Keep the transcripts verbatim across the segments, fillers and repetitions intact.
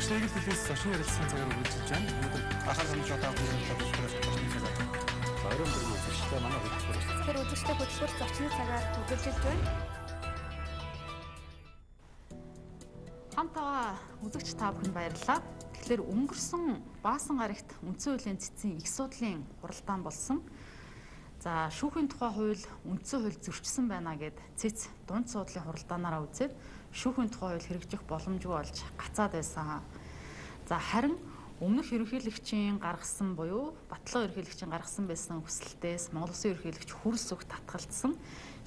Шээгэл телевиз зочин ярилцсан цагаар үргэлжлэж байна. Өнөөдөр ахаар хамж одоо бүхэн төлөвлөлт зочны цагаар орон дөрөв үзэгчтэй манай хөтөлбөр. Тэгэхээр үзэгчтэй хөтөлбөр зочны цагаар үргэлжлэж байна. Хамтаа үзэгч та бүхэнд баярлалаа. Тэгэхээр өнгөрсөн Баасан гарагт үндсэн хуулийн цэцгийн их судлалын хуралдаан болсон. За шүүхийн тухай хууль үндсэн хууль зөрчсөн байна гэд цэц дунд суудлын хуралдаанаараа үзээд шүүхийн тухай хууль хэрэгжих боломжгүй болж гацаад байсан. За харин өмнөх ерөнхийлөгчийн гаргасан буюу Батлан ерөнхийлөгчийн гаргасан байсан хүсэлтээс Монгол Улсын ерөнхийлөгч хүрс үг татгалзсан.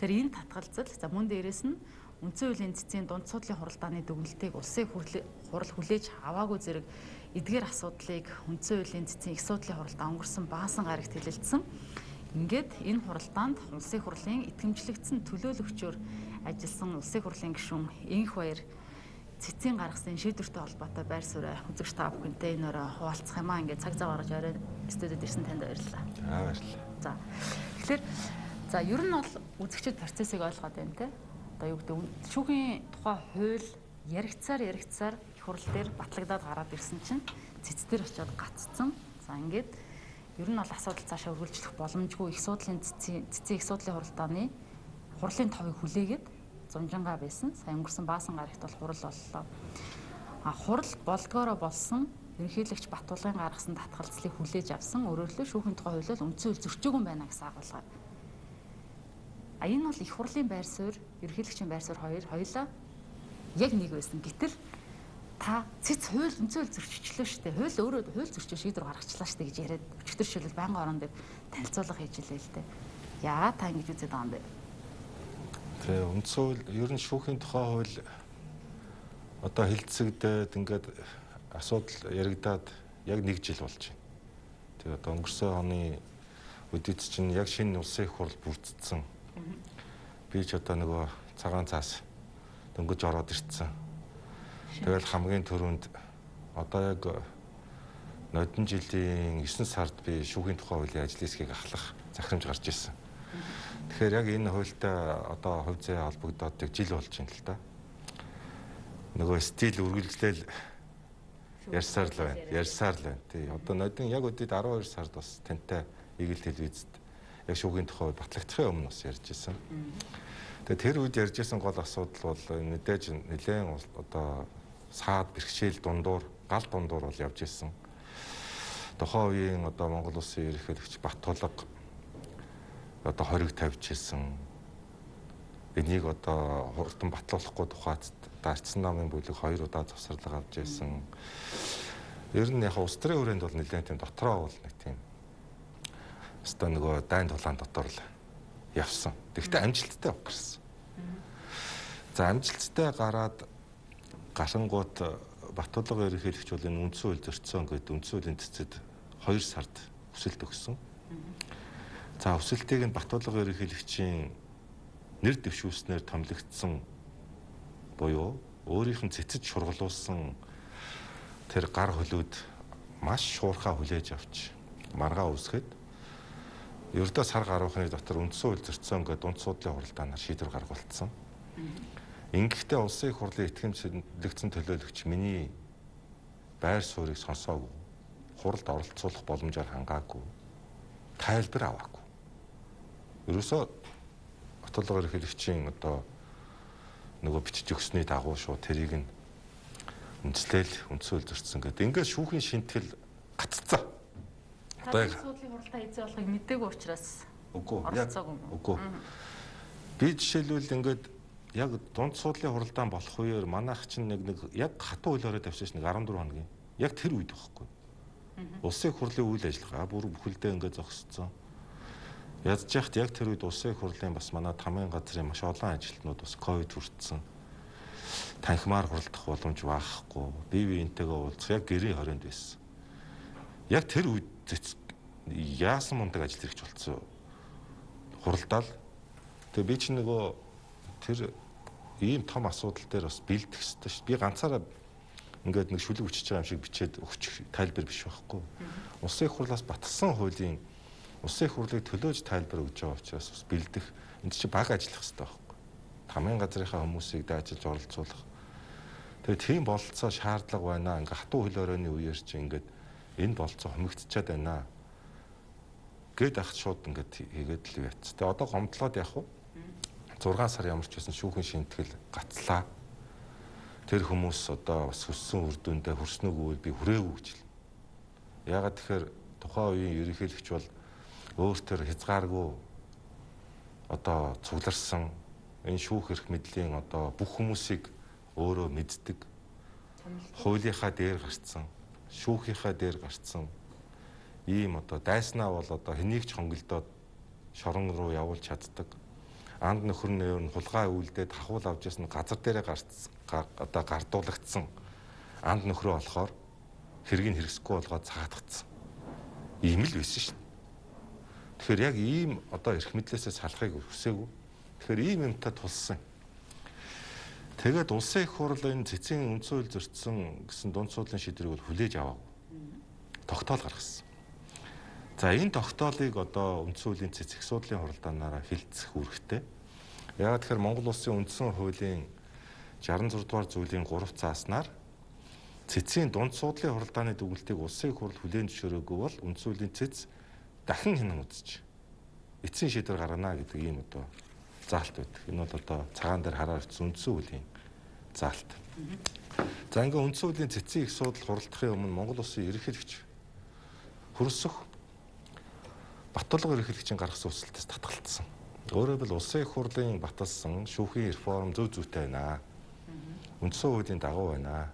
Тэгэхээр энэ татгалзал за мөн дээрээс нь үндсэн хуулийн цэцгийн дунд суудлын хуралдааны дүгнэлтийг улсын хурал хүлээж аваагүй зэрэг эдгээр асуудлыг үндсэн хуулийн цэцгийн их судлалын хуралдаан өнгөрсөн Баасан гарагт хэлэлцсэн. Ингээд энэ хуралдаанд улсын хурлын итгэмжлэгдсэн төлөөлөгчөөр ажилласан улсын хурлын гишүүн Энх Баяр цэцгийн гаргасан шийдвэртэй холбоотой байр суурь үзэгч та бүхэнтэй энэ өрөө хуваалцах юм аа. Ингээд цаг зав гаргаж орой студид ирсэн танд баярлалаа. Аа баярлалаа. За. Тэгэхээр за ер нь бол үзэгчд процессыг ойлгоод байна те. Одоо юу гэдэг шүүхийн тухай хууль яригцаар яригцаар их хурл дээр батлагдаад гараад ирсэн чинь цэцдэр очиод гаццсан. За ингээд ер нь бол асуудал цаашаа үргэлжлэх боломжгүй их судлалын цэцгийн цэцгийн их судлалын хуралдааны хурлын товыг хүлээгээд зунжангаа байсан. Сайн өнгөрсөн Баасан гарагт бол хурал боллоо. А хурал болдгоороо болсон ерөнхийлөгч Батулгын гаргасан татгалзлыг хүлээж авсан. Өөрөөр хэлбэл шүүхийн тухай хуулиар үндсэн хууль зөрчөөгүй юм байна гэсэн агуулгаар. А энэ бол их хурлын байр суурь, ерөнхийлөгчийн байр суурь хоёр хоёулаа яг нэг байсан. Гэтэл та цэц хууль үндсэн хууль зөрчилчлөө шүү дээ. Хууль өөрөө хууль зөрчиж шийдвэр гаргачлаа шүү дээ гэж яриад өчтөр шилэл байнгын орон дээр танилцуулга хийж илээ л дээ. Яагаад та ингэж үзээд байгаа юм бэ? Тэгээ үндсэн хууль ер нь шүүхийн тухай хууль одоо хилцэгдээд ингээд асуудал яригадаад яг нэг жил болж байна. Тэгээ одоо өнгөрсөн оны үдийд чинь яг шинэ улсын их хурл бүрдсэн. Би ч одоо нөгөө цагаан цаас дөнгөж ороод ирсэн. Тэгэл хамгийн түрүүнд одоо яг нодон жилийн есөн сард би шүүхийн тухай хуулийн ажлын хэсгийг ахлах захирамж гарч ирсэн. Тэгэхээр яг энэ хуультай одоо хувь заяа холбогдоод жил болж байна л да. Нөгөө стил үргэлжлээл ярьсаар л байна. Ярьсаар л байна. Тий. Одоо нодон яг өдөрт арван хоёр сард бас тантай Игэл телевизэд яг шүүхийн тухай батлагдахын өмнө бас ярьж ирсэн. Тэгээ тэр үед ярьж ирсэн гол асуудал бол мэдээж нэлээд одоо саад бэрхшээл дундуур гал дундуур бол явж ирсэн. Тухайн үеийн одоо Монгол Улсын ерөнхийлөгч Батулга одоо хориг тавьж ирсэн. Энийг одоо хурдан батлуулахгүй тухайд дарцсан намын бүлэг хоёр удаа завсарлага авч ирсэн. Ер нь яг улс төрийн хүрээнд бол нэлээд тийм дотроо бол нэг тийм өстой нөгөө дайн тулаан дотор л явсан. Тэгэхдээ амжилттай гарсан. За амжилттай гараад гашингууд Батулга ерөнхийлөгч бол энэ үндсэн хууль зөрчсөн гэдэг үндсэн хуулийн цэцэд хоёр сард хүсэлт өгсөн. За хүсэлтийг нь Батулга ерөнхийлөгчийн нэр дэвшүүлснээр томилогдсон буюу өөрийнх нь цэцэд шургалуулсан тэр гар хөлөөд маш шуурхаа хүлээж авч маргаа үсгэд ердөө сар гаруухны дотор үндсэн хууль зөрчсөн гэдэг дунд суудлын хуралдаанаар шийдвэр гаргуулсан. Ингэхдээ улсын их хурлын итгэмжлэгдсэн төлөөлөгч миний байр суурийг сонсоогүй, хуралд оролцуулах боломжоор хангаагүй, тайлбар аваагүй. Ерөөсөө Батулга ерөнхийлөгчийн одоо нөгөө бичиж өгсөний дагуу шууд тэрийг нь үндэслэл үндсэн хууль зөрчсөн гэдэг. Ингээд шүүхийн шинтгэл гаццсан. Одоо суудлын хуралдаа хийцээ болохыг мэдээгүй учраас үгүй оролцоогүй. Үгүй. Би жишээлбэл ингээд яг дунд суудлын хуралдаан болох үеэр манайх чинь нэг нэг яг хатуу хуулиараа тавьсан ш нэг арван дөрвөн хоногийн. Яг тэр үед байхгүй. Улсын их хурлын үйл ажиллагаа бүр бүхэлдээ ингээд зогсцсон. Ядж яхад яг тэр үед улсын их хурлын бас манай тамийн газрын маш олон ажилтнууд бас ковид хүртсэн. Танхимаар хуралдах боломж байхгүй. Бие биентэйгээ уулзах яг гэрийн хорионд байсан. Яг тэр үед яасан мундаг ажил хэрэгч болцсон. Хуралдаал. Тэгээ би ч нөгөө тэр ийм том асуудал дээр бас бэлдэх хэрэгтэй шүү. Би ганцаараа ингээд нэг шүлэг өчөж байгаа юм шиг бичээд өгч тайлбар биш байхгүй. Улсын их хурлаас батсан хуулийн улсын их хурлыг төлөөж тайлбар өгж байгаа учраас бас бэлдэх энэ чинь баг ажиллах хэрэгтэй байхгүй. Тамийн газрынхаа хүмүүсийг дайчилж оролцуулах. Тэгээ тийм бололцоо шаардлага байна. Ингээ хатуу хөл хорионы үеэр чи ингээд энэ бололцоо хомигдчихад байна. Гээд ахт шууд ингээд хийгээд л яц. Тэгээ одоо гомдлоод явах уу? зургаан сар ямар ч байсан шүүхийн шинтгэл гацлаа. Тэр хүмүүс одоо бас хүссэн үр дүндээ хүрснэг үйл би хүрээгүй гэж хэлнэ. Яагаад тэгэхээр тухайн үеийн ерөнхийлөгч бол өөртөө хязгааргүй одоо цугларсан энэ шүүх эрх мэдлийн одоо бүх хүмүүсийг өөрөө мэддэг. Хуулийнхаа дээр гарцсан, шүүхийнхаа дээр гарцсан ийм одоо дайснаа бол одоо хэнийг ч хонголдоод шорон руу явуулж чаддаг. Анд нөхөр нь хулгай үйлдээд хахуул авч ясна газар дээрээ гарцсан одоо гардуулагдсан анд нөхрөө болохоор хэргийг хэрэгсэхгүй болгоод цагаатгацсан. Ийм л байсан шин. Тэгэхээр яг ийм одоо эрх мэдлээсээ салахыг хүсээгүй. Тэгэхээр ийм юмтай тулсан. Тэгээд улсын их хурл энэ цэцгийн үндсэн хууль зөрчсөн гэсэн дунд суудлын шийдвэрийг бол хүлээж аваагүй. Тогтоол гаргасан. За энэ тогтоолыг одоо үндсэн хуулийн цэцэг суудлын хуралдаанаараа хилцэх үүрэгтэй. Яагаад тэгэхээр Монгол улсын үндсэн хуулийн шестдесет и зургаадугаар зүйлийн гурав цааснаар цэцгийн дунд суудлын хуралдааны дүгнэлтийг улсын их хурл хүлээн зөвшөөрөөгүй бол үндсэн хуулийн цэц дахин хянан үзэж эцсийн шийдвэр гаргана гэдэг ийм одоо заалт байдаг. Энэ бол одоо цагаан дээр хараад ирсэн үндсэн хуулийн заалт. За ингээ үндсэн хуулийн цэцгийн их суудлал хуралдахын өмнө Монгол улсын ерөнхийлөгч хөрсөх Баттулга ерөнхийлөгчийн гаргасан үсэлтээс татгалцсан. Өөрөөр хэлбэл улсын их хурлын баталсан шүүхийн реформ зөв зүйтэй байна. Үндсэн хуулийн дагуу байна.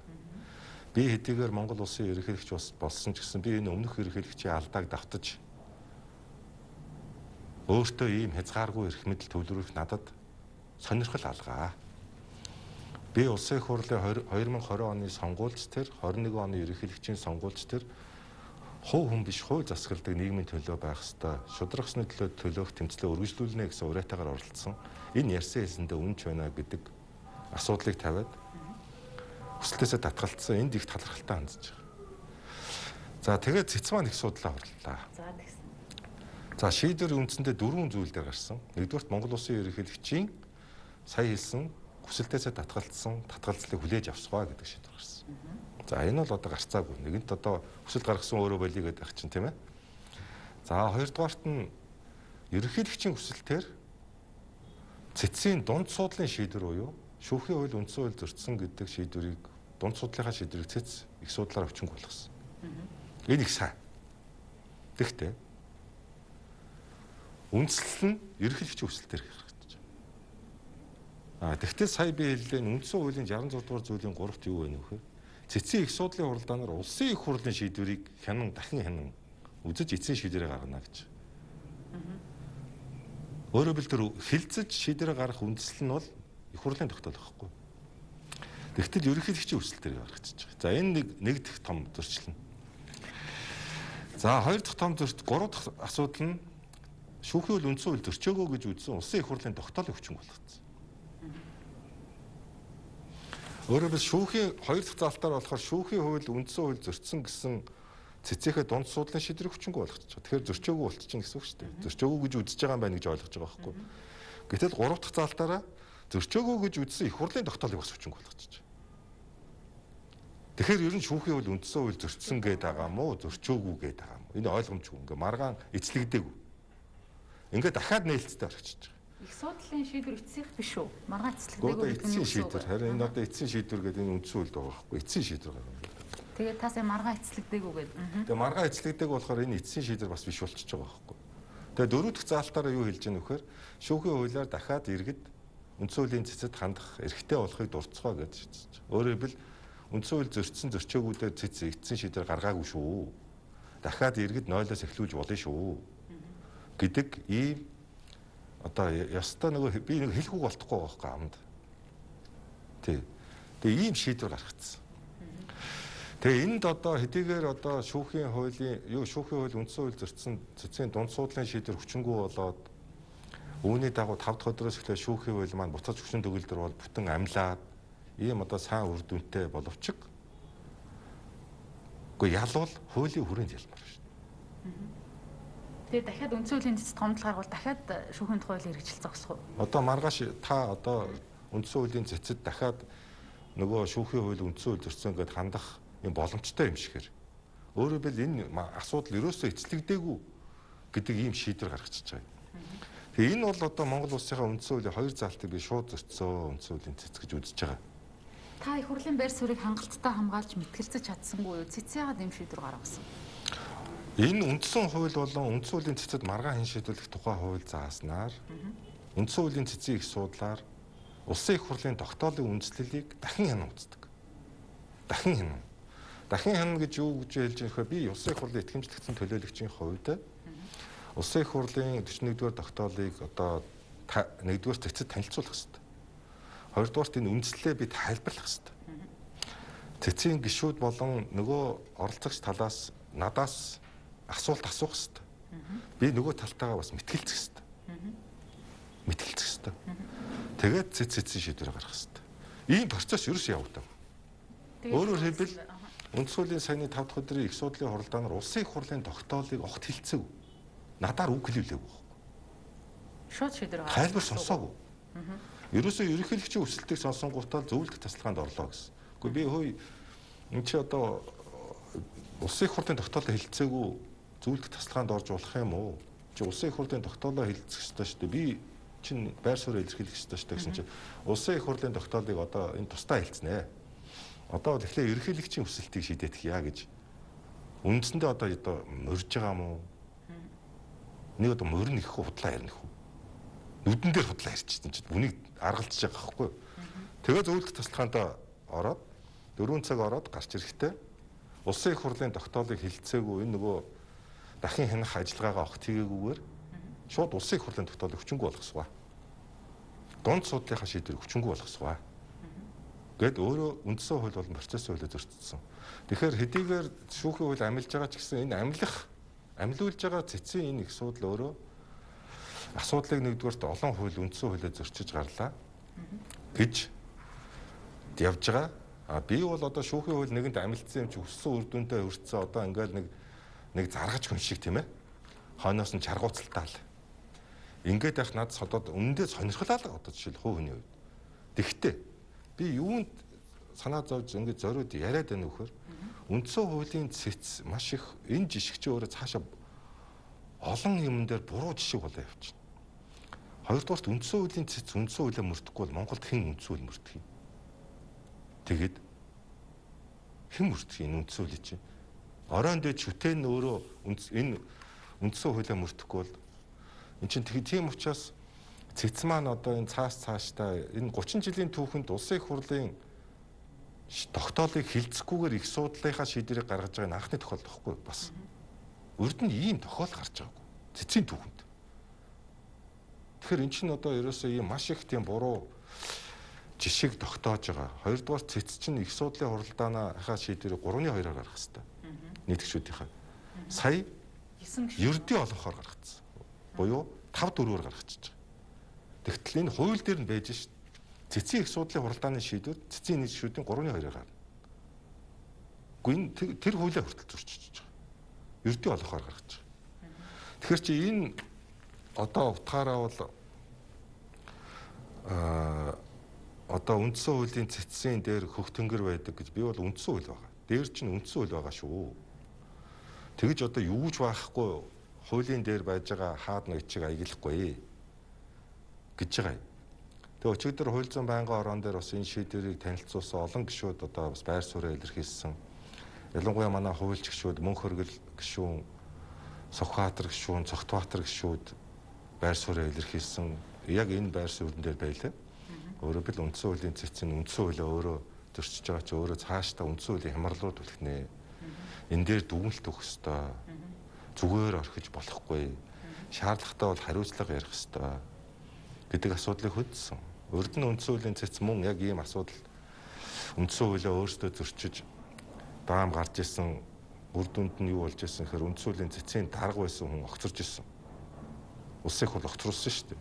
Би хэдийгээр Монгол улсын ерөнхийлөгч болсон ч гэсэн би энэ өмнөх ерөнхийлөгчийн алдааг давтаж өөртөө ийм хязгааргүй эрх мэдэл төвлөрөх надад сонирхол алгаа. Би улсын их хурлын хоёр мың и двадцать оны сонгуульч тэр двадцать и один оны ерөнхийлөгчийн сонгуульч тэр хувь хүн биш хууль засгалдаг нийгмийн төлөө байх ёстой. Шударгасны төлөө төлөөх тэмцлээ үргэлжлүүлнэ гэсэн уриатаагаар оролцсон. Энэ ярьсан хэлсэндээ үнэнч байна гэдэг асуудлыг тавиад хүсэлтээсээ татгалцсан. Энд их талархалтай хандж байгаа. За тэгээд цэц маань их судлаа хурлаа. За тэгсэн. За шийдвэр үндсэндээ дөрвөн зүйл дээр гарсан. Нэгдүгürt Монгол улсын ерөнхийлөгчийн сая хэлсэн хүсэлтээсээ татгалцсан татгалзлыг хүлээж авсгаа гэдэг шийдвэр гарсан. За энэ бол одоо гарцаагүй. Нэгэнт одоо хүсэлт гаргасан өөрөө болиё гэдэг ах чинь тийм ээ. За хоёрдугаарт нь ерөнхийлөгчийн хүсэлтээр цэцгийн дунд суудлын шийдвэр буюу шүүхийн хууль үндсэн хууль зөрчсөн гэдэг шийдвэрийг дунд суудлынхаа шийдвэрийг цэц их судлаар өчнг болгосон. Энэ их сайн. Тэгэхдээ үндслэл нь ерөнхийлөгчийн хүсэлтээр гаргагдаж байна. А тэгвэл сая би хэллээ үндсэн хуулийн шестдесет и зургаадугаар зүйлийн гуравт юу вэ нөхөр? Цэцгийн их суудлын хуралдаанаар улсын их хурлын шийдвэрийг хянан дахин хянан үзэж эцсийн шийдвэрээ гаргана гэж. Өөрөөр хэлбэл тэр хилцэж шийдвэрээ гаргах үндслэл нь бол их хурлын тогтоол байхгүй. Тэгтэл ерөнхийлөгчийн хүсэлтээр гаргачихж байгаа. За энэ нэг нэг дэх том зөрчил нь. За хоёр дахь том зөрчил, гурав дахь асуудал нь шүүхийн хууль үндсэн хууль зөрчөөгөө гэж үзсэн улсын их хурлын тогтоолыг хүчин болгоцсон. Өөрөөр хэлбэл шүүхийн хоёр дахь залтаар болохоор шүүхийн хууль үндсэн хууль зөрчсөн гэсэн цэцээхээ дунд суудлын шийдвэрийг хүчингүй болгочих. Тэгэхээр зөрчөөгүй болчихно гэсэн үг шүү дээ. Зөрчөөгүй гэж үзэж байгаа юм байна гэж ойлгож байгаа байхгүй. Гэтэл гурав дахь залтаараа зөрчөөгүй гэж үзсэн их хурлын тогтоолыг бас хүчингүй болгочих. Тэгэхээр ер нь шүүхийн хууль үндсэн хууль зөрчсөн гээд байгаа мó зөрчөөгүй гээд байгаа мó. Энэ ойлгомжгүй. Ингээ маргаан эцлэгдээгүй. Ингээ дахиад нээлттэй орчихж байгаа. Их судлалын шийдвэр эцсийнх биш үү? Маргаан эцлэгдээгүй гэдэг нь эцсийн шийдвэр. Харин энэ одоо эцсийн шийдвэр гэдэг энэ үндсэн хуульд байгаа байхгүй. Эцсийн шийдвэр гаргана. Тэгээд тасаа маргаан эцлэгдээгүй гэдэг. Тэгээ маргаан эцлэгдээгүй болохоор энэ эцсийн шийдвэр бас биш болчихж байгаа байхгүй. Тэгээ дөрөв дэх заалтаараа юу хэлж байгаа нөхөр шүүхийн хуулиар дахиад иргэд үндсэн хуулийн цэцэд хандах эрхтэй болохыг дурдцгаа гэж шийдэж байгаа. Өөрөөр хэлбэл үндсэн хууль зөрчсөн зөрчөөгүүдээр цэц эцсийн шийдвэр гаргаагүй шүү. Дахиад иргэд нойлоос эхлүүлж болно шүү. Гэдэг ийм одоо ёстой нөгөө би нэг хэлэхгүй болтохгүй байгаа байхгүй амд. Тий. Тэгээ ийм шийдвэр гаргацсан. Тэгээ энд одоо хэдийгээр одоо шүүхийн хуулийн юу шүүхийн хууль үндсэн хууль зөрчсөн цэцгийн дунд суудлын шийдвэр хүчингүй болоод үүний дагуу тав дахь өдрөөс эхлээ шүүхийн хууль маань буцаж хүчин төгөлдөр бол бүтэн амлаад ийм одоо сайн үр дүнтэй боловч үгүй ялвал хуулийн хүрээнд ялмаар шүү дээ. Тэгээ дахиад үндсэн хуулийн цэцэд гомдол гаргавал дахиад шүүхийн тухай хуулийг хэрэгжил зогсох уу? Одоо маргааш та одоо үндсэн хуулийн цэцэд дахиад нөгөө шүүхийн хууль үндсэн хууль зөрчсөн гэдээ хандах юм боломжтой юм шигээр. Өөрөөр хэлбэл энэ асуудал ерөөсөө эцлэгдээгүй гэдэг ийм шийдвэр гаргачихж байгаа. Тэгээ энэ бол одоо Монгол улсынхаа үндсэн хуулийн хоёр заалтыг би шууд зөрчсөн үндсэн хуулийн цэц гэж үзэж байгаа. Та их хурлын байр суурийг хангалттай хамгаалж мэтгэлцэж чадсангүй юу? Цэцээгээд ийм шийдвэр гаргасан. Энэ үндсэн хууль болон үндсэн хуулийн цэцэд маргаан хэн шийдвэрлэх тухай хууль зааснаар үндсэн хуулийн цэцийн их судлаар улсын их хурлын тогтоолын үндэслэлийг дахин хянан үздэг. Дахин хянан. Дахин хянана гэж юу гэж хэлж байгаа вэ? Би улсын их хурлын итгэмжлэгдсэн төлөөлөгчийн хувьд улсын их хурлын дөрвөн нэгдүгээр тогтоолыг одоо нэгдүгээр цэцэд танилцуулах хэрэгтэй. Хоёрдугаарт энэ үндэслэлээ би тайлбарлах хэрэгтэй. Цэцгийн гишүүд болон нөгөө оролцогч талаас надаас асуулт асуух хэрэгтэй. Би нөгөө талтайгаа бас мэтгэлцэх хэрэгтэй. Мэтгэлцэх хэрэгтэй. Тэгээд цэц цэцийн шийдвэр гаргах хэрэгтэй. Ийм процесс ерөөс явагдав. Өөрөөр хэлбэл үндсэн хуулийн саяны тав дахь өдрийн их судлалын хуралдаанаар улсын их хурлын тогтоолыг огт хэлцэв. Надаар үг хэлүүлээгүй. Шууд шийдвэр гаргасан. Тайлбар сонсоогүй. Ерөөсөө ерөнхийлөгчийн өсөлтийг сонсонгуудаа зөвлөлт тасалгаанд орлоо гэсэн. Гэхдээ би хөөе энэ чи одоо улсын их хурлын тогтоолоо хэлцээгүй зөвлөлт тасалгаанд орж болох юм уу? Чи улсын их хурлын тогтоолоо хэлцэх ёстой шүү дээ. Би чинь байр суурь илэрхийлэх ёстой шүү дээ гэсэн чинь улсын их хурлын тогтоолыг одоо энэ тусдаа хэлцэнэ. Одоо тэгэхээр ерөнхийлөгчийн өсөлтийг шийдэх яа гэж үндсэндээ одоо одоо морж байгаа юм уу? Нэг одоо морин их худлаа ярих уу? Нүдэн дээр худлаа ярьчихсан чинь үнийг аргалзаж байгаа байхгүй. Тэгээ зөвлөлт тасалгаанд ороод дөрвөн цаг ороод гарч ирэхдээ улсын их хурлын тогтоолыг хэлцээгүй энэ нөгөө дахин хянах ажиллагаагаа огт хийгээгүйгээр шууд улсын их хурлын тогтоолыг хүчингүй болгосгоо. Дунд судлалынхаа шийдвэрийг хүчингүй болгосгоо. Гэт өөрөө үндсэн хууль болон процессын хуулиар зөрчсөн. Тэгэхээр хэдийгээр шүүхийн хууль амилж байгаа ч гэсэн энэ амилах амилуулж байгаа цэцгийн энэ их судал өөрөө асуудлыг нэгдүгээрт олон хууль үндсэн хуулиар зөрчиж гарлаа гэж явж байгаа. А би бол одоо шүүхийн хууль нэгэнд амилцсан юм чи өссөн үр дүнтэй өрцсөн одоо ингээл нэг нэг заргаж хүн шиг тийм ээ. Хойноос нь чаргууцалтаал. Ингээд байх надад одоо үнэндээ сонирхолтой л одоо жишээл хуу хөний үед. Тэгтээ би юунд санаа зовж ингээд зориуд яриад байна вөхөр үндсэн хуулийн цэц маш их энэ жишгчээ өөрөө цаашаа олон юм дээр буруу жишг болоо явчихна. Хоёрдугаарт үндсэн хуулийн цэц үндсэн хуулиа мөрдөхгүй бол Монголд хэн үндсэн хууль мөрдөх юм? Тэгэд хэн мөрдөх юм үндсэн хуулийг чинь? Оройн дэд шүтэн өөрөө энэ үндсэн хуулиа мөрдөхгүй бол эн чинь тийм учраас цэц маань одоо энэ цаас цаашдаа энэ гучин жилийн түүхэнд улсын их хурлын тогтоолыг хилцэхгүйгээр их судлалынхаа шийдвэрийг гаргаж байгаа нь анхны тохиолдол байхгүй бас. Урд нь ийм тохиол гарч байгаагүй. Цэцгийн түүхэнд. Тэгэхээр эн чинь одоо ерөөсөө ийм маш их тийм буруу жишг тогтоож байгаа. Хоёрдугаар цэц чинь их судлалын хуралдаанаа шийдвэрийг гурван хоёроор гаргах хэрэгтэй. Нийтгчүүдийнхаа. Сая ердийн олонхоор гаргацсан. Буюу тав дөрвөөр гаргачихж байгаа. Тэгтэл энэ хууль дээр нь байж шít. Цэцгийн их судлалын хуралдааны шийдвэр цэцгийн нийтгчүүдийн гурван хоёроор гарна. Гэхдээ энэ тэр хуулиа хүртэл зөрчиж байгаа. Ердийн олонхоор гаргаж байгаа. Тэгэхээр чи энэ одоо утгаараа бол аа одоо үндсэн хуулийн цэцсийн дээр хөх тэнгэр байдаг гэж би бол үндсэн хууль байгаа. Дээр чинь үндсэн хууль байгаа шүү. Тэгэж одоо юу ч байхгүй хуулийн дээр байж байгаа хаад ноёчийг аяглахгүй гэж байгаа юм. Тэгээ өчигдөр хууль зүйн байнгын орон дээр бас энэ шийдвэрийг танилцуулсан олон гишүүд одоо бас байр суурь илэрхийлсэн. Ялангуяа манай хуульч гишүүд Мөнх хөргөл гишүүн, Сухбаатар гишүүн, Цогтбаатар гишүүд байр суурь илэрхийлсэн. Яг энэ байр суурин дээр байлаа. Өөрөөр хэл үндсэн хуулийн цэцэн үндсэн хуулиа өөрөө зөрчиж байгаа чи өөрөө цаашдаа үндсэн хуулийн хямралууд үлгэнэ. Энэ дээр дүгнэлт өгөх ёстой. Зүгээр орхиж болохгүй. Шаардлагатай бол хариуцлага ярих ёстой гэдэг асуудлыг хөдөлсөн. Урд нь үндсэн хуулийн цэц мөн яг ийм асуудал үндсэн хуулиа өөрсдөө зөрчиж даам гарч исэн үр дүнд нь юу болж исэн гэхээр үндсэн хуулийн цэцийн дарга байсан хүн огцорж исэн. Улсын их хурл огцруулсан шүү дээ.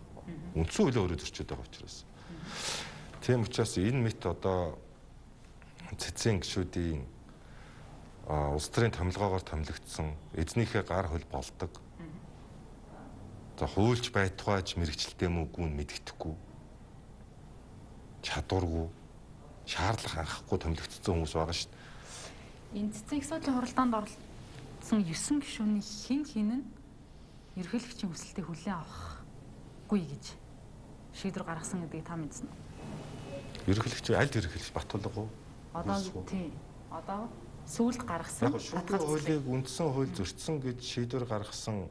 Үндсэн хуулиа өөрөө зөрчиж байгаа учраас. Тийм учраас энэ мэт одоо цэцгийн гишүүдийн улс төрийн томилгоогоор томилогдсон эзнийхээ гар хөл болдог. За хуульч байтугайч мэрэгчлээ мөгүй нь мэддэхгүй. Чадваргүй. шаардлага анхахгүй томилогдсон хүмүүс байгаа шүү дээ. Энэ цэцэн их судлын хуралдаанд оролцсон есөн гишүүний хэн хэн нь ерөнхийлөгчийн хүсэлтийг хүлээн авахгүй гэж шийдвэр гаргасан гэдгийг та мэдсэн үү? Ерөнхийлөгч аль ерөнхийлөгч Батулга уу? Одоо тийм. Одоо сүүлд гаргасан шүүхийн хуулийг үндсэн хууль зөрчсөн гэж шийдвэр гаргасан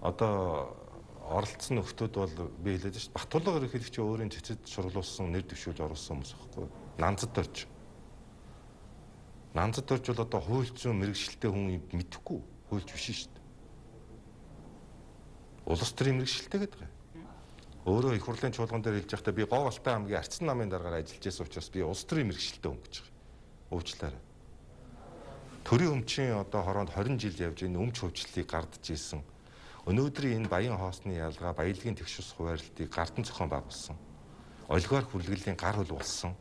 одоо оролцсон нөхдүүд бол би хэлээд шүү дээ. Батулга ерөнхийлөгч өөрийн цэцэд шурлуулсан нэр дэвшүүлж оруулсан хүмүүс байхгүй. Нанзад орж. Нанзад орж бол одоо хууль зүйн мэрэгжилтэй хүн мэдэхгүй хуульч биш шүү дээ. Улс төрийн мэрэгжилтэй гэдэг юм. Өөрөө их хурлын чуулган дээр хэлж байхдаа би Говь Алтай аймгийн Арцсан намын дараагаар ажиллаж байсан учраас би улс төрийн мэрэгжилтэй хүн гэж байгаа. Уучлаарай. Төрийн өмчийн одоо хороонд хорин жил явж энэ өмч хөвчлөлийг гардж ийсэн. Өнөөдрийн энэ баян хоосны ялгаа, баялагын тэгшус хуваарлтыг гартан зохион байгуулсан. Олигарх хүлгэлийн гар хөл болсон.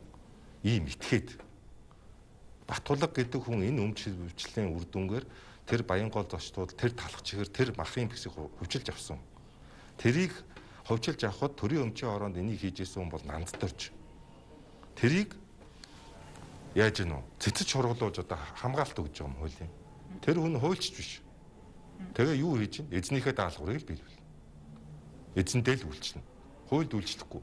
Ийм итгээд Батулга гэдэг хүн энэ өмч хөвчлөлийн үр дүнгээр тэр Баянгол зочдууд тэр талах чигээр тэр махын бэсийг хөвчилж авсан. Тэрийг хөвчилж авахд төрийн өмчийн хороонд энийг хийжсэн хүн бол нандд орж. Тэрийг яаж гэнэ үү? Цэцэж шургуулж одоо хамгаалт өгж байгаа юм хуулийн. Тэр хүн хуульч биш. Тэгээ юу хийж чинь? Эзнийхээ даалгаврыг л биелүүл. Эзэндээ л үйлчлэнэ. Хуульд үйлчлэхгүй.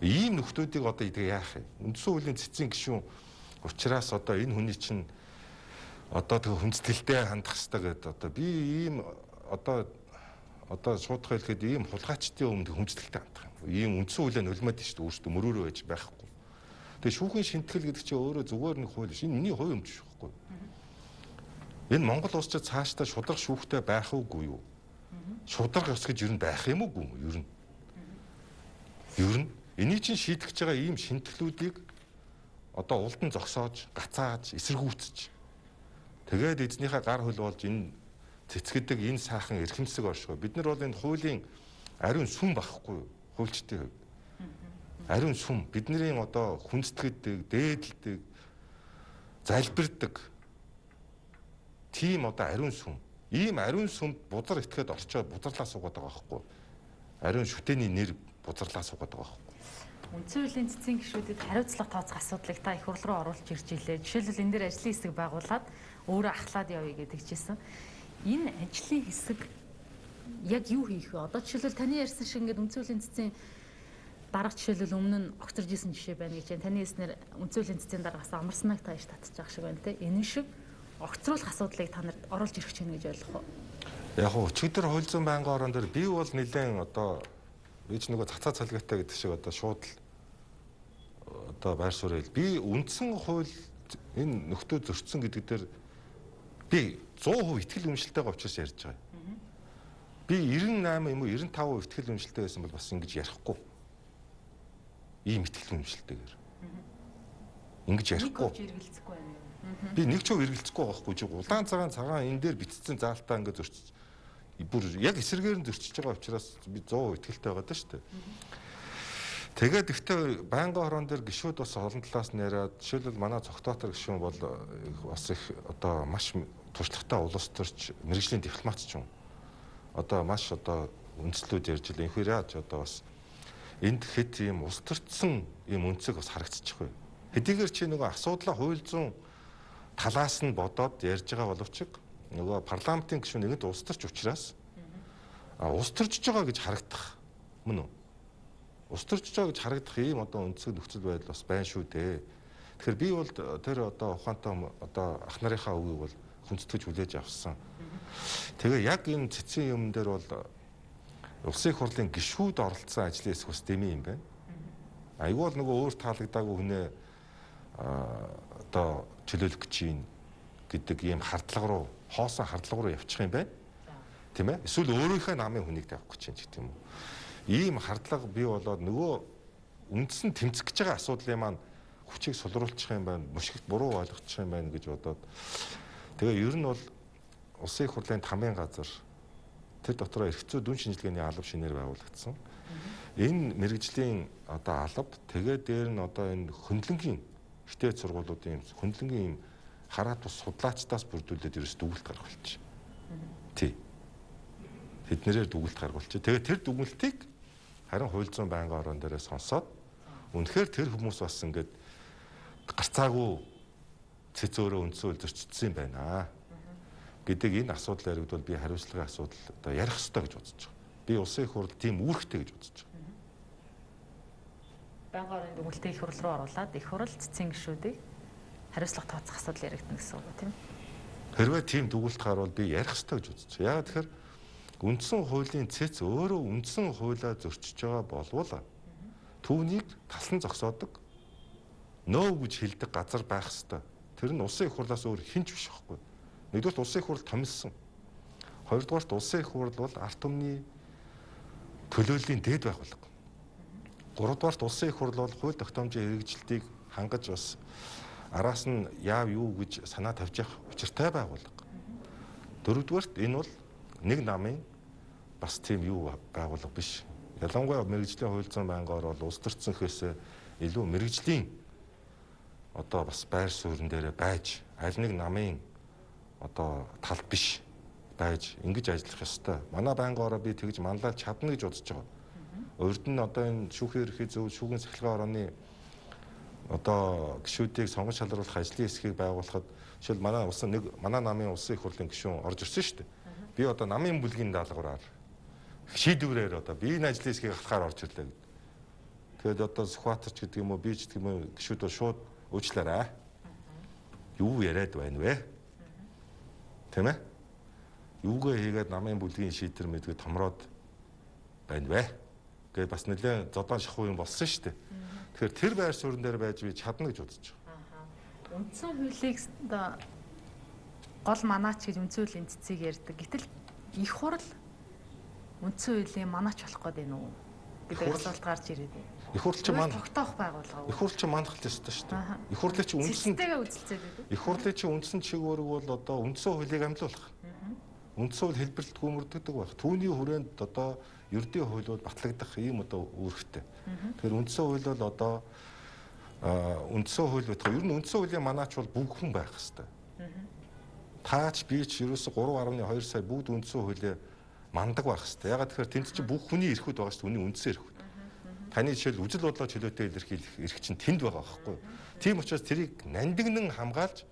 Ийм нөхдүүдийг одоо идэх яах юм? Үндсэн хуулийн цэцэн гишүүн учраас одоо энэ хүний чинь одоо тэг хүндэтгэлтэй хандах хэрэгтэй гэдэг одоо би ийм одоо одоо шуудах хэлэхэд ийм хулгайчдын өмнө хүндэтгэлтэй хандах юм. Ийм үндсэн хуулиа нулимаад шүү дээ өөртөө мөрөөрөө байж байхгүй. Тэгээ шүүхийн шинтгэл гэдэг чинь өөрөө зүгээр нэг хууль шин миний хувь өмч байхгүй. Энэ Монгол улс ч цаашдаа шудрах шүүхтэй байх уугүй юу? Шудрах ёс гэж юу байх юм уу? Юу нь? Юу нь? Энийг чинь шийдэх гэж байгаа ийм шинтгэлүүдийг одоо улдан зогсоож, гацааж, эсэргүүцэж. Тэгээд эзнийхээ гар хөл болж энэ цэцгэдэг энэ сайхан эрхэмсэг оршгоо. Бид нар бол энэ хуулийн ариун сүм байхгүй юу? Хуульчдын хувьд. Ариун сүм бидний одоо хүндэтгэлдэг, дээдэлдэг, залбирдаг тийм одоо ариун сүм. Ийм ариун сүмд бузар итгэхэд орчоод бузарлаа суугаад байгаа байхгүй. Ариун шүтэний нэр бузарлаа суугаад байгаа байхгүй. Үндсэн хуулийн цэцэн гишүүдэд хариуцлага тооцох асуудлыг та их хурл руу оруулж ирж илээ. Жишээлбэл энэ дээр ажлын хэсэг байгуулад өөрөө ахлаад явъя гэдэг чийсэн. Энэ ажлын хэсэг яг юу хийх вэ? Одоо жишээлбэл таны ярьсан шиг ингээд үндсэн хуулийн цэцэн дарга жишээлбэл өмнө нь огцорж исэн жишээ байна гэж байна. Таны хэлснээр үндсэн хуулийн цэцэн даргаас амарснаг тааш татчих байгаа шиг байна те. Энэ шиг огцруулах асуудлыг та нарт оруулж ирэх чинь гэж ойлгох уу? Яг нь өчигдөр хууль зүйн байнгын орон дээр би бол нэлээд одоо бич нөгөө цацаа цалгаатай гэдэг шиг одоо шууд л одоо байр суурь хэл. Би үндсэн хууль энэ нөхдөө зөрчсөн гэдэг дээр би сто процент итгэл үнэмшилтэйгээ учраас ярьж байгаа. Би девяносто восемь юм уу девяносто пять процент итгэл үнэмшилтэй байсан бол бас ингэж ярихгүй. Ийм итгэл үнэмшилтэйгээр. Ингэж ярихгүй. Би нэг ч үргэлцэхгүй байхгүй чи улаан цагаан цагаан энэ дээр битцсэн заалтаа ингэ зөрчиж бүр яг эсэргээр нь зөрчиж байгаа учраас би сто процент итгэлтэй байгаа даа шүү дээ. Тэгээд ихтэй байнгын хорон дээр гишүүд бас олон талаас нь яриад жишээлбэл манай цогтоотор гишүүн бол бас их одоо маш туршлагатай улс төрч мэрэгжлийн дипломат ч юм. Одоо маш одоо үндслүүд ярьж илээ. Инхээр яаж одоо бас энд хэд ийм улс төрчсөн ийм үнцэг бас харагдчих вэ. Хэдийгээр чи нөгөө асуудлаа хууль зүйн талаас нь бодоод ярьж байгаа боловч нөгөө парламентын гишүүн нэгд улс төрч учраас а улс төрчж байгаа гэж харагдах мөн үү? Улс төрчж байгаа гэж харагдах ийм одоо үндсэг нөхцөл байдал бас байна шүү дээ. Тэгэхээр би бол тэр одоо ухаантай одоо ах нарынхаа үгийг бол хүндэтгэж хүлээж авсан. Тэгээ яг энэ цэцэн юм дээр бол улсын их хурлын гишүүд оролцсон ажлын хэсэг бас дэми юм байна. Айгүй бол нөгөө өөр таалагдаагүй хүнээ одоо чөлөөлөх гэж юм гэдэг ийм хардлага руу хоосон хардлага руу явчих юм байна. Тийм ээ? Эсвэл өөрийнхөө намын хүнийг тавих гэж юм ч гэдэг юм уу. Ийм хардлага бий болоод нөгөө үндсэн тэмцэх гэж байгаа асуудлын маань хүчийг сулруулчих юм байна, мушигт буруу ойлгочих юм байна гэж бодоод тэгээ ер нь бол улсын их хурлын тамийн газар тэр дотроо эрх зүй дүн шинжилгээний алба шинээр байгуулагдсан. Энэ мэрэгжлийн одоо алба тэгээ дээр нь одоо энэ хөндлөнгийн ихтэй сургуулиудын хөндлөнгийн юм хараат бус судлаачдаас бүрдүүлээд ерөөс дүгнэлт гаргуулчих. Тий. Тэднэрээр дүгнэлт гаргуулчих. Тэгээ тэр дүгнэлтийг харин хууль зүйн байнгын орон дээрээ сонсоод Үнэхээр тэр хүмүүс бас ингээд гарцаагүй цэц өөрөө үндсэн хууль зөрчигдсөн юм байна гэдэг энэ асуудал яригдвал би хариуцлагын асуудал одоо ярих ёстой гэж үзэж байгаа. Би улсын их хурл тийм үүрэгтэй гэж үзэж байгаа. Байнгын орны дүгнэлтийг их хурл руу оруулаад их хурл цэцэн гишүүдийг хариуцлага тооцох асуудал яригдана гэсэн үг тийм. Хэрвээ тийм дүгнэлт гарвал би ярих ёстой гэж үзэж байгаа. Яагаад тэгэхээр үндсэн хуулийн цэц өөрөө үндсэн хуулиа зөрчиж байгаа болвол түүнийг талсан зогсоодог нөө гэж хэлдэг газар байх ёстой. Тэр нь улсын их хурлаас өөр хинч биш байхгүй. Нэгдүгээр улсын их хурл томилсон. Хоёрдугаар улсын их хурл бол ард түмний төлөөллийн дээд байгууллага. Гуравдугаар улсын их хурл бол хууль тогтоомжийн хэрэгжилтийг хангаж бас араас нь яав юу гэж санаа тавьж явах учиртай байгууллага. Дөрөвдүгээрт энэ бол нэг намын бас тийм юу байгууллага биш. Ялангуяа мэрэгжлийн хууль зүйн байнгаар бол улс төрцөнхөөс илүү мэрэгжлийн одоо бас байр суурин дээр байж аль нэг намын одоо тал биш байж ингэж ажиллах ёстой. Манай байнгаараа би тэгж манлайлж чадна гэж бодож байгаа. Урд нь одоо энэ шүүхийн ерхий зөв шүүхийн сахилгын орооны одоо гишүүдийг сонгож шалруулах ажлын хэсгийг байгуулахад жишээл манай улсын нэг манай намын улсын их хурлын гишүүн орж ирсэн шүү дээ. Би одоо намын бүлгийн даалгавраар шийдвэрээр одоо би энэ ажлын хэсгийг хатахаар орж ирлээ гэдэг. Тэгээд одоо Сүхбаатарч гэдэг юм уу би ч гэдэг юм уу гишүүд бол шууд уучлаарай. Юу яриад байна вэ? Тэ мэ? Юугаа хийгээд намын бүлгийн шийдвэр мэдгээ томроод байна вэ? Гэ бас нэлээд зодон шахуу юм болсон шүү дээ. Тэгэхээр тэр байр суурин дээр байж би чадна гэж бодож байгаа. Үндсэн хуулийг гол манаач гэж үндсэн хуулийн цэцгийг ярьдаг. Гэтэл их хурл үндсэн хуулийн манаач болох гээд байна уу гэдэг асуулт гарч ирээд байна. Их хурл чи маань тогтоох байгууллага. Их хурл чи манах ёстой шүү дээ. Их хурлын чи үндсэн цэцтэйгээ үзэлцээд байдаг. Их хурлын чи үндсэн чиглэлэг бол одоо үндсэн хуулийг амлуулах. Үндсэн хууль хэлбэрэлт гүймэрдэгдэг байх. Түүний хүрээнд одоо ердийн хууль бол батлагдах ийм одоо үүрэгтэй. Тэгэхээр үндсэн хууль бол одоо үндсэн хууль байтугай ер нь үндсэн хуулийн манаач бол бүх хүн байх хэвээр. Таач би ч ерөөсө гурав гаруй хоёр сая бүгд үндсэн хуулийг мандаг байх хэвээр. Ягаад тэгэхээр тэнд чинь бүх хүний эрхүүд байгаа шүү дээ. Үний үндсэн эрхүүд. Таны жишээл үжил бодлоо чөлөөтэй илэрхийлэх эрх чинь тэнд байгаа байхгүй юу? Тийм учраас тэрийг нандинан хамгаалж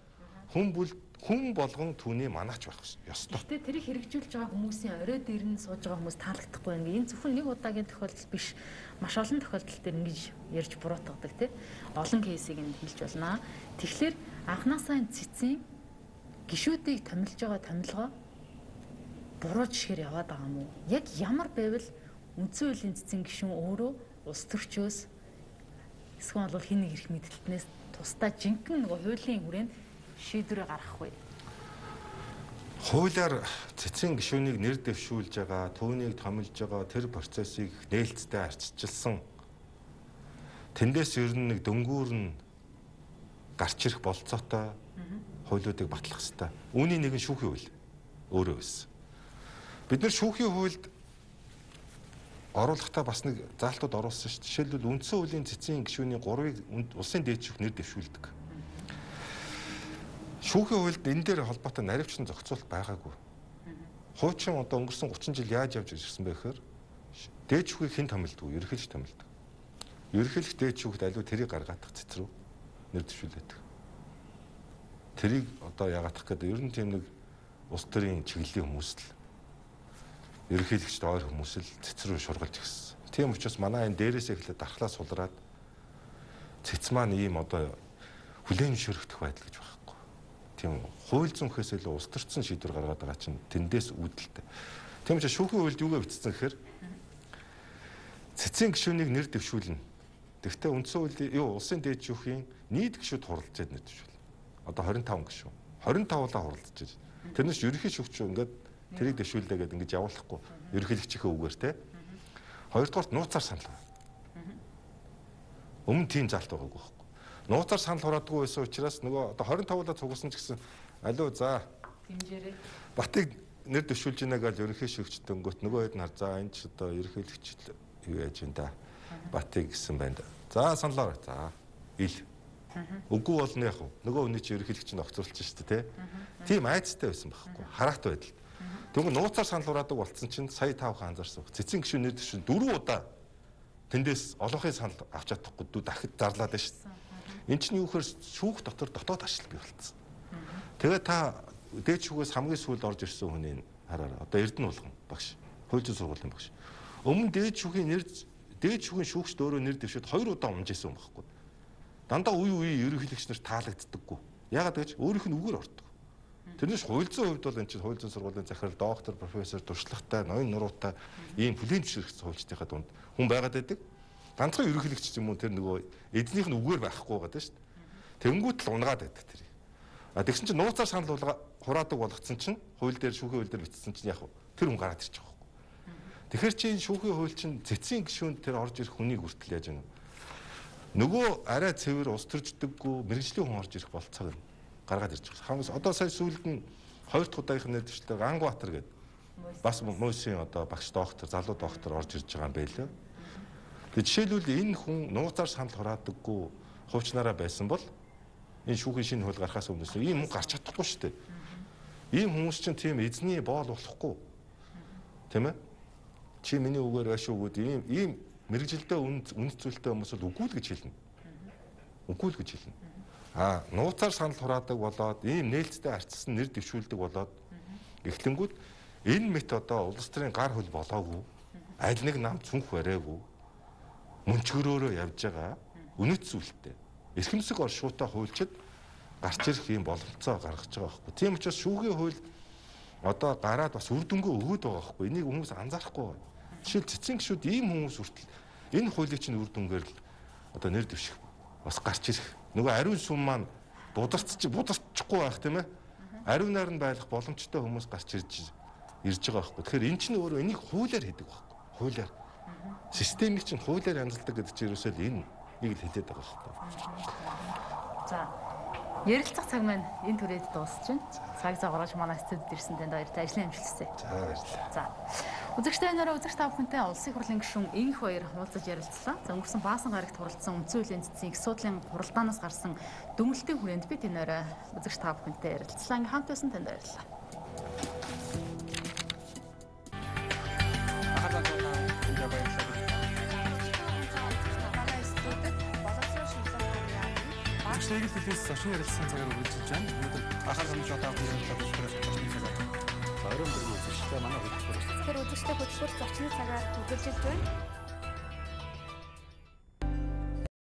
хүн бүл хүн болгон түүний манаач байх ёстой. Гэтэ тэрийг хэрэгжүүлж байгаа хүмүүсийн орой дээр нь сууж байгаа хүмүүс таалагдахгүй ингээ энэ зөвхөн нэг удаагийн тохиолдол биш. Маш олон тохиолдол дээр ингэж ярьж буруутгадаг тий. Олон кейсийг нь хэлж болно. Тэгэхээр анхнаасаа энэ цэцэн гишүүдийг томилж байгаа томилгоо буруу жишгээр яваад байгаа юм уу? Яг ямар байвал үндсэн хуулийн цэцэн гишүүн өөрөө улс төрчөөс эсвэл бол хин нэг эрх мэдэлтнээс тусдаа жинхэнэ нөгөө хуулийн хүрээнд шийдвэрээ гаргах вэ? Хуулиар цэцэн гишүүнийг нэр дэвшүүлж байгаа, түүнийг томилж байгаа тэр процессыг нээлттэй арчилсан. Тэндээс ер нь нэг дөнгүүр нь гарч ирэх болцоотой хуулиудыг батлах хэрэгтэй. Үүний нэг нь шүүхийн хууль өөрөө байсан. Бид нар шүүхийн хуульд оруулахдаа бас нэг заалтууд оруулсан шүү дээ. Жишээлбэл үндсэн хуулийн цэцэн гишүүний гурвыг улсын дээдшүүх нэр дэвшүүлдэг. Шүүхийн хуульд энэ дээр холбоотой наривчлан зохицуулалт байгаагүй. Хуучин одоо өнгөрсөн гучин жил яаж явж ирсэн бэ гэхээр дээд шүүхийг хэн томилдог вэ? Ерөнхийлөгч томилдог. Ерөнхийлөгч дээд шүүхд аливаа тэрийг гаргадаг цэц рүү нэр дэвшүүлдэг. Тэрийг одоо яагаадах гэдэг ер нь тийм нэг улс төрийн чиглэлийн хүмүүс л ерөнхийлөгчд ойр хүмүүс л цэц рүү шургалж гисэн. Тийм учраас манай энэ дээрээс эхлээд дархлаа сулраад цэц маань ийм одоо хүлээн зөвшөөрөгдөх байдал гэж байхгүй. Тийм хууль зүйнхээс илүү улс төрчин шийдвэр гаргаад байгаа чинь тэндээс үүдэлтэй. Тийм учраас шүүхийн хуульд юугаа бичсэн гэхээр цэцэн гишүүнийг нэр дэвшүүлнэ. Тэгвэл үндсэн хуулийн юу улсын дээд шүүхийн нийт гишүүд хуралдаж нэр дэвшүүл. Одоо двадцать и пять гишүүн. двадцать и пять-аа хуралдаж байна. Тэрнээс ерөнхий шүүгч ингээд тэрийг дэвшүүлдэг гэдэг ингэж явуулахгүй. Ерөнхийлөгчийнхээ үгээр те. Хоёрдугаарт нууцаар санал. Өмнө тийм залт байгаагүй байхгүй. Нууцаар санал хураадгүй байсан учраас нөгөө одоо двадцать и пять-аа цугласан ч гэсэн алуу за хэмжээрээ Батыг нэр дэвшүүлж ийна гэж ерөнхий шүүгчтэй өнгөт нөгөө хэд нар за энэ ч одоо ерөнхийлөгч юу яаж юм да. Батыг гэсэн байна. За саналаа. За ил. Үгүй болно яг уу. Нөгөө хүний чи ерөнхийлөгч нь огцруулж шүү дээ, тэ. Тийм айцтай байсан байхгүй. Харахтай байдал. Тэгвэл нууцаар санал хураадаг болцсон чинь сая тавхан анзаарсан. Цэцэн гишүүн нэр дэвшүүн дөрвөн удаа тэндээс олонхын санал авч чадахгүй дүү дахид зарлаад байна шүү дээ. Энд чинь юу гэхээр шүүх дотор дотоод ажил бий болцсон. Тэгээ та дээд шүүгээс хамгийн сүүлд орж ирсэн хүний хараараа. Одоо Эрдэнэ болгон багш. Хууль зүйн сургуулийн багш. Өмнө дээд шүүхийн нэр дээд шүүхийн шүүгчд өөрөө нэр дэвшээд хоёр удаа унжсэн юм багхгүй. Дандаа үе үе ерөнхийлөгч нар таалагддаггүй. Яагаад гэж өөрийнх нь үгээр ордог. Тэрнээс хууль зүйн хувьд бол энэ чинь хууль зүйн сургуулийн захирал, доктор, профессор, туршлагатай, ноён нуруутай ийм бүлээн зөвшөөрөх хуульчдынхаа дунд хүн байгаад байдаг. Ганцхан ерөнхийлөгч юм уу тэр нөгөө эзнийх нь үгээр байхгүй байгаа даа шүү дээ. Тэнгүүт л унгаад байдаг тэр. А тэгсэн чинь нууцаар санал болго хураадаг болгоцсон чинь хууль дээр шүүхийн хууль дээр бичсэн чинь яг тэр хүн гараад ирчих واخхой. Тэгэхээр чи шүүхийн хууль чинь цэцгийн гишүүнд тэр орж ирэх хүнийг хүртэл яаж гэнэ. Нөгөө арай цэвэр ус төрждөггүй мэрэгжлийн хүн орж ирэх болцоог нь гаргаад ирж байгаа. Хагас одоо сая сүүлд нь хоёр дахь удаагийнх нэр дэвшлээ Ангбаатар гэдэг бас Мөсийн одоо багш доктор, залуу доктор орж ирж байгаа юм байлээ. Тэгээ жишээлбэл энэ хүн нууцаар санал хураадаггүй хуучнараа байсан бол энэ шүүхийн шинэ хууль гарахаас өмнөөс ийм хүн гарч чадахгүй шүү дээ. Ийм хүмүүс чинь тийм эзний боол болохгүй. Тийм ээ? Чи миний үгээр байш үгүүд ийм ийм мэрэгжилдээ үнэт зүйлтэй хүмүүс бол үгүй л гэж хэлнэ. Үгүй л гэж хэлнэ. Аа, нууцаар санал хураадаг болоод ийм нээлттэй арчсан нэр дэвшүүлдэг болоод эхлэнгүүд энэ мэт одоо улс төрийн гар хөл болоогүй. Аль нэг нам цүнх бариагүй. Мөнчгөрөөрөө явж байгаа үнэт зүйлтэй. Эрхэмсэг оршуутай хуульчид гарч ирэх юм боломжтой гаргаж байгаа байхгүй. Тийм учраас шүүхийн хууль одоо гараад бас үр дүнгээ өгөөд байгаа байхгүй. Энийг хүмүүс анзаарахгүй байна. Жишээл цэцэн гişүүд ийм хүмүүс хүртэл энэ хуулийг чинь үр дүнгээр л одоо нэр дэвших бас гарч ирэх. Нөгөө ариун сүм маань бударч бударчихгүй байх тийм ээ. Ариунаар нь байх боломжтой хүмүүс гарч ирж ирж байгаа байхгүй. Тэгэхээр эн чинь өөрөө энийг хуулиар хийдэг байхгүй. Хуулиар. Системийг чинь хуулиар янзалдаг гэдэг чинь ерөөсөө л энэ нэг л хэлээд байгаа байхгүй. За ярилцах цаг маань энэ түрээд дуусч байна. Цаг загварч манай студид ирсэн танд баяртай ажлын амжилт хүсье. За баярлалаа. За үзэгчтэй нараа үзэгч та бүхэнтэй улсын хурлын гишүүн Инх баяр уулзаж ярилцлаа. За өнгөрсөн Баасан гарагт хуралдсан үндсэн хуулийн цэцгийн их судлалын хуралдаанаас гарсан дүгнэлтийн хүрээнд бид энэ орой үзэгч та бүхэнтэй ярилцлаа. Ингээ хамт байсан танд баярлалаа. Ажлыг хэлээс зочин ярилцсан цагаар үргэлжлэж байна. Өнөөдөр анхаарал хандуулж байгаа хүмүүст зөвхөн зочны цагаар орон бүрийн үзэгчтэй манай хөтөлбөр. Тэгэхээр үзэгчтэй хөтөлбөр зочны цагаар үргэлжлэж байна.